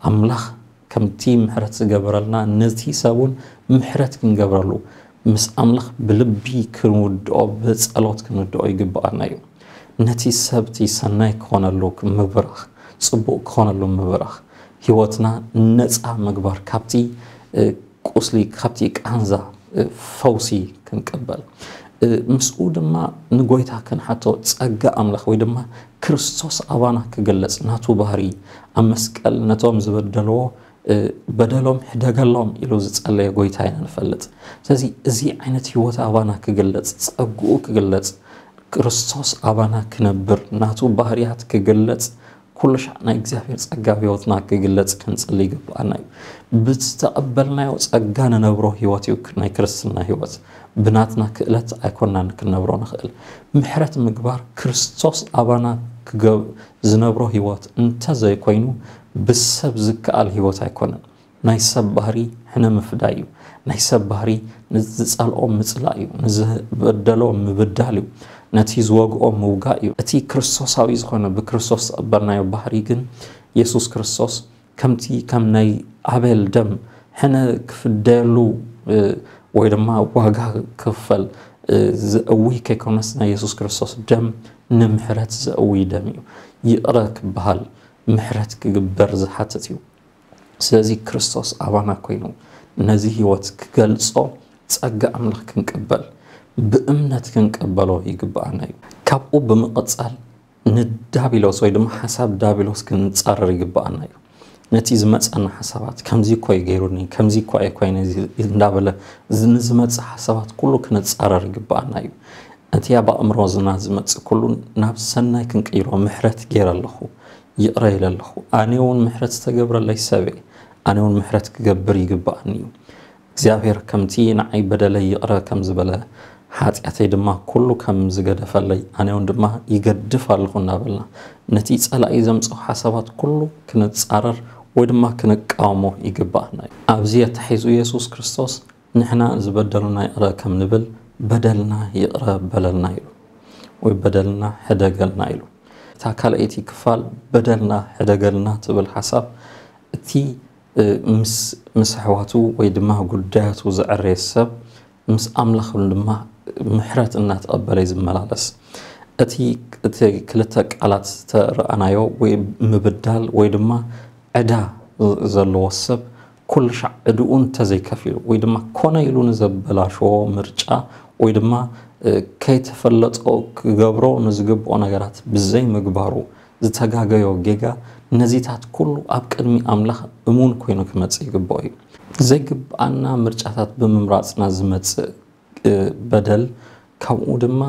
ኣምላኽ ከምቲ ምሕረት ዝገበረልና ነቲ ሰብ እውን ምሕረት ክንገብረሉ፣ ምስ ኣምላኽ ብልቢ ክንውድኦ፣ ብጸሎት ክንውድኦ ይግብኣና እዩ። ነቲ ሰብቲ ሰናይ ክኾነሉ ምብራኽ፣ ጽቡቕ ክኾነሉ ምብራኽ፣ ህይወትና ነጻ ምግባር፣ ካብቲ፣ እ፣ ቁስሊ፣ ካብቲ ቃንዛ፣ እ፣ ፈውሲ ክንቅበል። ምስኡ ድማ ንጎይታ ክንሓቶ ጸጋ ኣምላኽ ወይ ድማ ክርስቶስ ኣባና ክግለጽ ናቱ ባህሪ ኣብ መስቀል ነቶም ዝበደልዎ በደሎም ሕደገሎም ኢሉ ዝጸለየ ጎይታ ኢና ንፈልጥ። ስለዚ እዚ ዓይነት ህይወት ኣባና ክግለጽ፣ ጸግኡ ክግለጽ፣ ክርስቶስ ኣባና ክነብር፣ ናቱ ባህርያት ክግለጽ፣ ኩሉ ሻዕ ናይ እግዚኣብሔር ጸጋ ኣብ ህይወትና ክግለጽ ክንጽሊ ይግብኣና እዩ። ብዝተቐበልናዮ ጸጋ ንነብሮ ህይወት እዩ ናይ ክርስትና ህይወት። ብናትና ክእለት ኣይኮናን ክንነብሮ ንኽእል። ምሕረት ምግባር ክርስቶስ ኣባና ክገብ-፣ ዝነብሮ ህይወት እንተዘይኮይኑ ብሰብ ዝከኣል ህይወት ኣይኮነን። ናይ ሰብ ባህሪ ሕነ ምፍዳይ እዩ። ናይ ሰብ ባህሪ ንዝጸልኦ ምጽላእ እዩ። ንዝበደሎ ምብዳል እዩ። ነቲ ዝወግኦ ምውጋእ እዩ። እቲ ክርስቶሳዊ ዝኾነ ብክርስቶስ ዝቐበልናዮ ባህሪ ግን የሱስ ክርስቶስ ከምቲ ከም ናይ ኣቤል ደም ሕነ ክፍደየሉ ወይ ድማ ዋጋ ክኽፈል ዘእዊ ከይኮነስ ናይ የሱስ ክርስቶስ ደም ንምሕረት ዘእዊ ደም እዩ። ይቕረ ክበሃል ምሕረት ክግበር ዝሓትት እዩ። ስለዚ ክርስቶስ ኣባና ኮይኑ ነዚ ህይወት ክገልጾ ጸጋ ኣምላኽ ክንቅበል ብእምነት ክንቅበሎ ይግብኣና እዩ። ካብኡ ብምቕጻል ንዳቢሎስ ወይ ድማ ሓሳብ ዳቢሎስ ክንጻረር ይግብኣና እዩ። ነቲ ዝመጸና ሓሳባት ከምዚ እኮ እዩ ገይሩኒ፣ ከምዚ እኮ እየ ኮይነ እዚ እንዳበለ እዚ ንዝመጽእ ሓሳባት ኩሉ ክንጻረር ይግብኣና እዩ። እቲ ኣብ ኣእምሮና ዝመጽእ ኩሉ ናብ ሰናይ ክንቅይሮ ምሕረት ገይረ ኣለኹ፣ ይቕረ ኢለ ኣለኹ። ኣነ እውን ምሕረት ዝተገብረለይ ሰብ እየ፣ ኣነ እውን ምሕረት ክገብር ይግብኣኒ እዩ። እግዚኣብሔር ከምቲ ንዓይ በደለይ ይቕረ ከም ዝበለ ሓጢኣተይ ድማ ኩሉ ከም ዝገደፈለይ ኣነ እውን ድማ ይገድፍ ኣለኹ እናበልና ነቲ ጸላኢ ዘምጽኦ ሓሳባት ኩሉ ክንጻረር ወይ ድማ ክንቃወሞ ይግባኣና እዩ። ኣብዚ ኣተሓሒዙ የሱስ ክርስቶስ ንሕና ዝበደሉና ይቕረ ከም ንብል በደልና ይቕረ በለልና ኢሉ ወይ በደልና ሕደገልና ኢሉ። እታ ካልኣይቲ ክፋል በደልና ሕደገልና ትብል ሓሳብ እቲ ምስ ምስ ኣሕዋቱ ወይ ድማ ጉዳያቱ ዘዕረየ ሰብ ምስ ኣምላኽ እውን ድማ ምሕረት እናተቐበለ እዩ ዝመላለስ። እቲ እቲ ክልተ ቃላት ዝተረኣናዮ ወይ ምብዳል ወይ ድማ ዕዳ ዘለዎ ሰብ ኩሉ ሻዕ ዕድኡ እንተዘይከፊሉ ወይ ድማ ኮነ ኢሉ ንዘበላሸዎ ምርጫ ወይ ድማ ከይተፈለጦ ክገብሮ ንዝግብኦ ነገራት ብዘይምግባሩ ዝተጋገዮ ጌጋ ነዚታት ኩሉ ኣብ ቅድሚ ኣምላኽ እሙን ኮይኑ ክመጽእ ይግብኦ እዩ። ዘይግብኣና ምርጫታት ብምምራጽና ዝመጽእ በደል፣ ከምኡ ድማ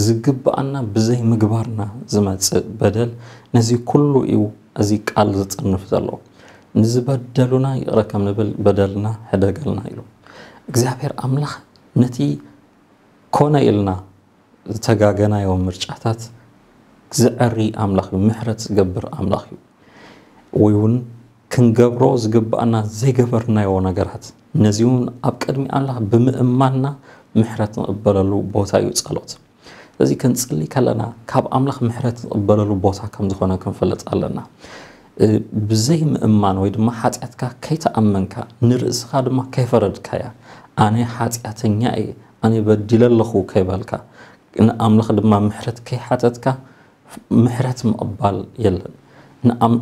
ዝግብኣና ብዘይምግባርና ዝመጽእ በደል፣ ነዚ ኩሉ እዩ እዚ ቃል ዝጽንፍ ዘሎ። ንዝበደሉና ይቕረ ከም ንብል በደልና ሕደገልና ኢሉ። እግዚኣብሔር ኣምላኽ ነቲ ኮነ ኢልና ዝተጋገናዮ ምርጫታት ዝዐሪ ኣምላኽ እዩ፣ ምሕረት ዝገብር ኣምላኽ እዩ። ወይ እውን ክንገብሮ ዝግብኣና ዘይገበርናዮ ነገራት ነዚ እውን ኣብ ቅድሚ ኣምላኽ ብምእማንና ምሕረት ንቕበለሉ ቦታ እዩ ጸሎት። ስለዚ ክንጽሊ ከለና ካብ ኣምላኽ ምሕረት ንቕበለሉ ቦታ ከም ዝኾነ ክንፈልጥ ኣለና። ብዘይ ምእማን ወይ ድማ ሓጢኣትካ ከይተኣመንካ ንርእስኻ ድማ ከይፈረድካያ ኣነ ሓጢኣተኛ እየ ኣነ በዲለ ኣለኹ ከይበልካ ንኣምላኽ ድማ ምሕረት ከይሓተትካ ምሕረት ምቕባል የለን።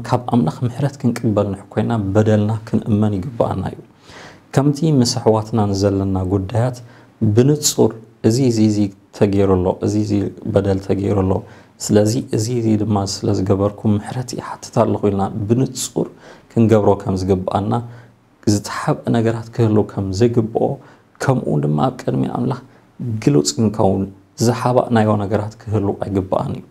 ካብ ኣምላኽ ምሕረት ክንቅበል ንሕ ኮይና በደልና ክንእመን ይግብኣና እዩ። ከምቲ ምስ ኣሕዋትና ንዘለና ጉዳያት ብንጹር እዚ እዚ እዚ ተገይሩ ኣሎ፣ እዚ እዚ በደል ተገይሩ ኣሎ፣ ስለዚ እዚ እዚ ድማ ስለ ዝገበርኩ ምሕረት ይሓትት ኣለኹ ኢልና ብንጹር ክንገብሮ ከም ዝግብኣና ዝተሓብአ ነገራት ክህሉ ከም ዘይግብኦ ከምኡ ድማ ኣብ ቅድሚ ኣምላኽ ግሉጽ ክንከውን ዝሓባእናዮ ነገራት ክህሉ ኣይግብኣን እዩ።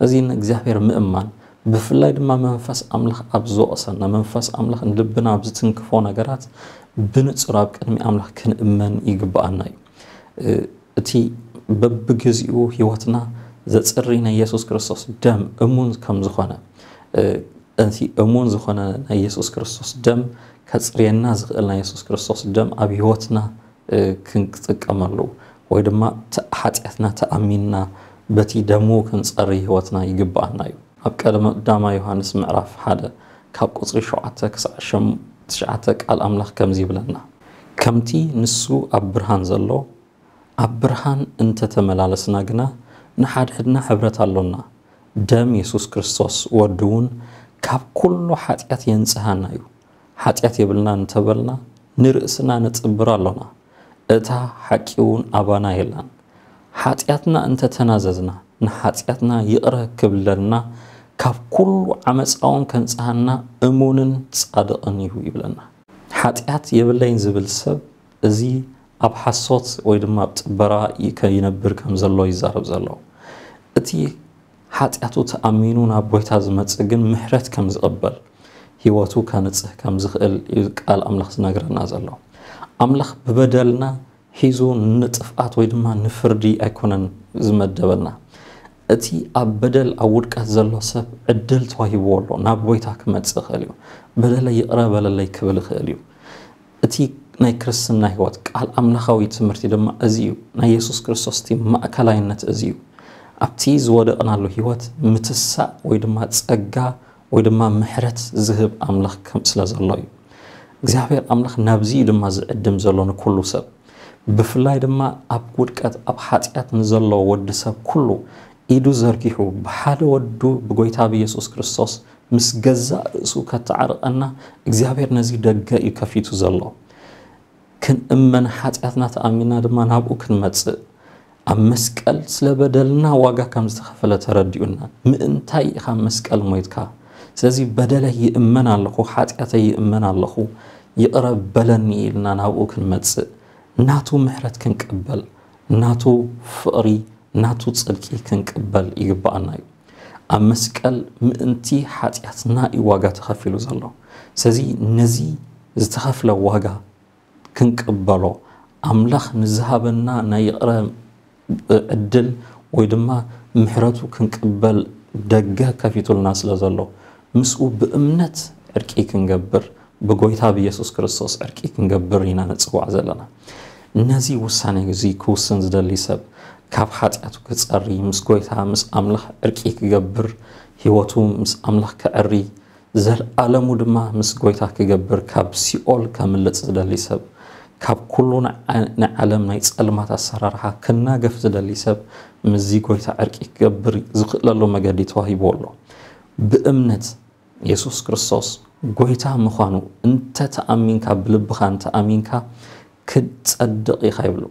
እዚ ንእግዚኣብሔር ምእማን ብፍላይ ድማ መንፈስ ኣምላኽ ኣብ ዝወቕሰና መንፈስ ኣምላኽ ንልብና ኣብ ዝትንክፎ ነገራት ብንጹር ኣብ ቅድሚ ኣምላኽ ክንእመን ይግብኣና እዩ። እቲ በብግዚኡ ህይወትና ዘጽሪ ናይ የሱስ ክርስቶስ ደም እሙን ከም ዝኾነ እቲ እሙን ዝኾነ ናይ የሱስ ክርስቶስ ደም ከጽርየና ዝኽእል ናይ የሱስ ክርስቶስ ደም ኣብ ህይወትና ክንጥቀመሉ ወይ ድማ ሓጢኣትና ተኣሚንና በቲ ደሙ ክንጸሪ ህይወትና ይግብኣና እዩ። ኣብ ቀዳማይ ዮሃንስ ምዕራፍ ሓደ ካብ ቁጽሪ ሸውዓተ ክሳዕ ትሽዓተ ቃል ኣምላኽ ከምዚ ይብለና፣ ከምቲ ንሱ ኣብ ብርሃን ዘሎ ኣብ ብርሃን እንተተመላለስና ግና ንሓድሕድና ሕብረት ኣሎና፣ ደም የሱስ ክርስቶስ ወዱ እውን ካብ ኩሉ ሓጢኣት የንጽሃና እዩ። ሓጢኣት የብልና እንተበልና ንርእስና ነጽብር ኣሎና፣ እታ ሓቂ እውን ኣባና የላን። ሓጢኣትና እንተተናዘዝና፣ ንሓጢኣትና ይቕረ ክብለልና፣ ካብ ኩሉ ዓመፃውን ከንጽሃና እሙንን ጻድቕን እዩ ይብለና። ሓጢኣት የብለይን ዝብል ሰብ፣ እዚ ኣብ ሓሶት ወይ ድማ ኣብ ጥበራ ከይነብር ከም ዘሎ ይዛረብ ዘሎ። እቲ ሓጢኣቱ ተኣሚኑ ናብ ጎይታ ዝመጽእ ግን ምሕረት ከም ዝቕበል፣ ህይወቱ ከንጽህ ከም ዝኽእል እዩ ቃል ኣምላኽ ዝነግረና ዘሎ። ኣምላኽ ብበደልና ሒዙ ንጥፍኣት ወይ ድማ ንፍርዲ ኣይኮነን ዝመደበና። እቲ ኣብ በደል ኣብ ውድቀት ዘሎ ሰብ ዕድል ተዋሂብዎ ኣሎ፣ ናብ ጎይታ ክመጽእ ይኽእል እዩ። በደለይ ይቕረ በለለይ ክብል ይኽእል እዩ። እቲ ናይ ክርስትና ህይወት ቃል ኣምላኻዊ ትምህርቲ ድማ እዚ እዩ። ናይ የሱስ ክርስቶስ እቲ ማእከላይነት እዚ እዩ። ኣብቲ ዝወደቕናሉ ህይወት ምትሳእ ወይ ድማ ጸጋ ወይ ድማ ምሕረት ዝህብ ኣምላኽ ከም ስለ ዘሎ እዩ። እግዚኣብሔር ኣምላኽ ናብዚ እዩ ድማ ዝዕድም ዘሎ ንኩሉ ሰብ። ብፍላይ ድማ ኣብ ውድቀት ኣብ ሓጢኣት ንዘሎ ወዲ ሰብ ኩሉ ኢዱ ዘርጊሑ ብሓደ ወዱ ብጎይታ ብየሱስ ክርስቶስ ምስ ገዛእ ርእሱ ከተዓርቐና እግዚኣብሔር ነዚ ደገ እዩ ከፊቱ ዘሎ። ክንእመን ሓጢኣትና ተኣሚና ድማ ናብኡ ክንመጽእ ኣብ መስቀል ስለ በደልና ዋጋ ከም ዝተኸፈለ ተረዲኡና። ምእንታይ ኢኻ ኣብ መስቀል ሞይትካ? ስለዚ በደለይ ይእመን ኣለኹ፣ ሓጢኣተይ ይእመን ኣለኹ፣ ይቕረ በለኒ ኢልና ናብኡ ክንመጽእ ናቱ ምሕረት ክንቅበል ናቱ ፍቕሪ ናቱ ጽድቂ ክንቅበል ይግብኣና እዩ። ኣብ መስቀል ምእንቲ ሓጢኣትና እዩ ዋጋ ተኸፊሉ ዘሎ። ስለዚ ነዚ ዝተኸፍለ ዋጋ ክንቅበሎ ኣምላኽ ንዝሃበና ናይ ይቕረ ዕድል ወይ ድማ ምሕረቱ ክንቅበል ደገ ከፊቱልና ስለ ዘሎ ምስኡ ብእምነት ዕርቂ ክንገብር ብጎይታ ብየሱስ ክርስቶስ ዕርቂ ክንገብር ኢና ንጽዋዕ ዘለና። ነዚ ውሳኔ እዚ ክውስን ዝደሊ ሰብ ካብ ሓጢኣቱ ክጸሪ ምስ ጎይታ ምስ ኣምላኽ ዕርቂ ክገብር ህይወቱ ምስ ኣምላኽ ከዕሪ ዘልኣለሙ ድማ ምስ ጎይታ ክገብር ካብ ሲኦል ከምልጽ ዝደሊ ሰብ ካብ ኩሉ ናይ ዓለም ናይ ጸልማት ኣሰራርሓ ክናገፍ ዝደሊ ሰብ ምስዚ ጎይታ ዕርቂ ክገብር ዝኽእለሉ መገዲ ተዋሂብዎ ኣሎ። ብእምነት የሱስ ክርስቶስ ጎይታ ምዃኑ እንተ ተኣሚንካ ብልብኻ እንተ ኣሚንካ ክትጸድቕ ኢኻ ይብሉ።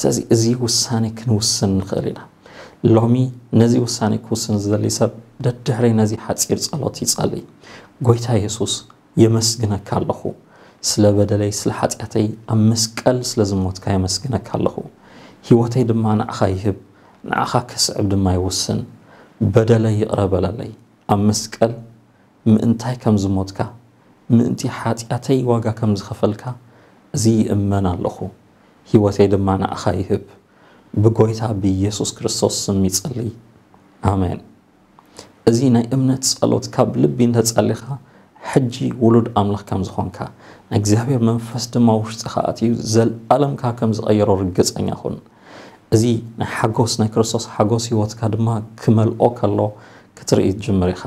ስለዚ እዚ ውሳኔ ክንውስን ንኽእል ኢና። ሎሚ ነዚ ውሳኔ ክውስን ዝደሊ ሰብ ደድሕረይ ነዚ ሓጺር ጸሎት ይጸሊ። ጎይታ የሱስ የመስግነካ ኣለኹ። ስለ በደለይ ስለ ሓጢኣተይ ኣብ መስቀል ስለ ዝሞትካ የመስግነካ ኣለኹ። ህይወተይ ድማ ንዓኻ ይህብ፣ ንዓኻ ከስዕብ ድማ ይውስን። በደለይ ይቕረ በለለይ። ኣብ መስቀል ምእንታይ ከም ዝሞትካ ምእንቲ ሓጢኣተይ ዋጋ ከም ዝኸፈልካ እዚ ይእመን ኣለኹ። ህይወተይ ድማ ንዓኻ ይህብ። ብጎይታ ብየሱስ ክርስቶስ ስም ይጸሊ። ኣሜን። እዚ ናይ እምነት ጸሎት ካብ ልቢ እንተጸሊኻ ሕጂ ውሉድ ኣምላኽ ከም ዝኾንካ ናይ እግዚኣብሔር መንፈስ ድማ ውሽጥኻ ኣትዩ ዘልኣለምካ ከም ዝቐየሮ ርግጸኛ ኩን። እዚ ናይ ሓጎስ ናይ ክርስቶስ ሓጎስ ህይወትካ ድማ ክመልኦ ከሎ ክትርኢ ትጅምር ኢኻ።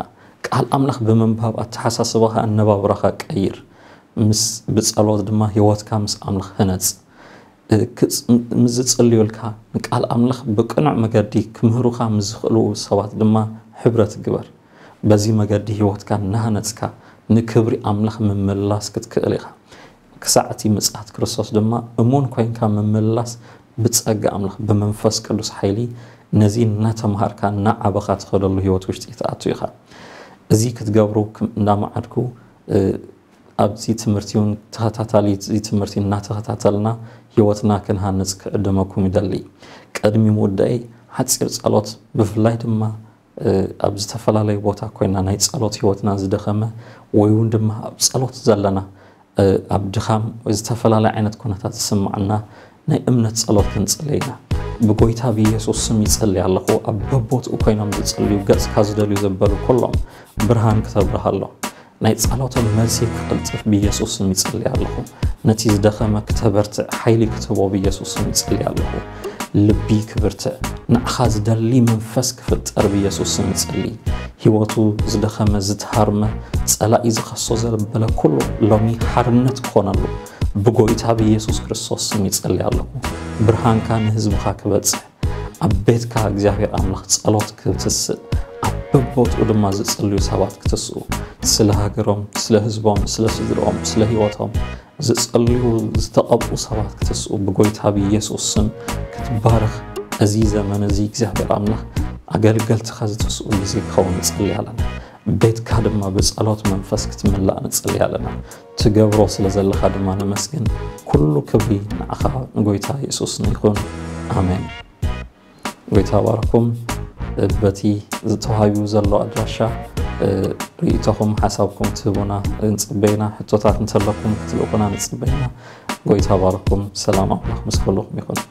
ቃል ኣምላኽ ብምንባብ ኣተሓሳስባኻ ኣነባብራኻ ቀይር። ምስ ብጸሎት ድማ ህይወትካ ምስ ኣምላኽ ህነጽ። ምስ ዝጽልዩልካ ንቃል ኣምላኽ ብቅኑዕ መገዲ ክምህሩኻ ምስ ዝኽእሉ ሰባት ድማ ሕብረት ግበር። በዚ መገዲ ህይወትካ እናሃነጽካ ንክብሪ ኣምላኽ ምምላስ ክትክእል ኢኻ። ክሳዕ እቲ ምጽኣት ክርስቶስ ድማ እሙን ኮይንካ ምምላስ ብጸጋ ኣምላኽ ብመንፈስ ቅዱስ ሓይሊ ነዚ እናተምሃርካ እናዓበኻ ትኸደሉ ህይወት ውሽጢ ትኣቱ ኢኻ። እዚ ክትገብሩ እንዳመዓድኩ ኣብዚ ትምህርቲ እውን ተኸታታሊ እዚ ትምህርቲ እናተኸታተልና ህይወትና ክንሃንጽ ክዕድመኩም ይደሊ። ቅድሚ ምውዳይ ሓጺር ጸሎት ብፍላይ ድማ ኣብ ዝተፈላለዩ ቦታ ኮይና ናይ ጸሎት ህይወትና ዝደኸመ ወይ እውን ድማ ኣብ ጸሎት ዘለና ኣብ ድኻም ወይ ዝተፈላለየ ዓይነት ኩነታት ዝስምዓና ናይ እምነት ጸሎት ክንጽሊ ኢና። ብጎይታ ብኢየሱስ ስም ይጸሊ ኣለኹ። ኣብ በቦትኡ ኮይኖም ዝጸልዩ ገጽካ ዝደልዩ ዘበሉ ኩሎም ብርሃን ክተብርሃሎም ናይ ጸሎቶም መልሲ ክቕልጥፍ ብኢየሱስ ስም ይጸሊ ኣለኹ። ነቲ ዝደኸመ ክተበርትዕ ሓይሊ ክትህቦ ብኢየሱስ ስም ይጸሊ ኣለኹ። ልቢ ክብርትዕ ንዓኻ ዝደሊ መንፈስ ክፍጠር ብኢየሱስ ስም ይጸሊ። ህይወቱ ዝደኸመ ዝተሃርመ ጸላኢ ዝኸሶ ዘበለ ኩሉ ሎሚ ሓርነት ክኾነሉ ብጎይታ ብኢየሱስ ክርስቶስ ስም ይጸሊ ኣለኹ። ብርሃንካ ንህዝብኻ ክበጽሕ ኣብ ቤትካ እግዚኣብሔር ኣምላኽ ጸሎት ክትስእ ኣብ በቦትኡ ድማ ዝጽልዩ ሰባት ክትስኡ ስለ ሃገሮም ስለ ህዝቦም ስለ ስድርኦም ስለ ህይወቶም ዝጸልዩ ዝተቐብኡ ሰባት ክትስኡ ብጎይታ ብኢየሱስ ስም ክትባረኽ እዚ ዘመን እዚ እግዚኣብሔር ኣምላኽ ኣገልገልትኻ ዝትስኡ ግዜ ክኸውን ንጽሊ ኣለና። ቤትካ ድማ ብጸሎት መንፈስ ክትምላእ ንጽሊ ኣለና። ትገብሮ ስለ ዘለኻ ድማ ነመስግን። ኩሉ ክብሪ ንዓኻ ንጎይታ የሱስ ይኹን። ኣሜን። ጎይታ ባርኩም። በቲ ዝተዋሂቡ ዘሎ ኣድራሻ ርእይቶኹም ሓሳብኩም ትህቡና ንጽበይና። ሕቶታት እንተለኩም ክትልእኹና ንጽበይና። ጎይታ ባርኩም። ሰላም ኣምላኽ ምስ ኩልኹም ይኹን።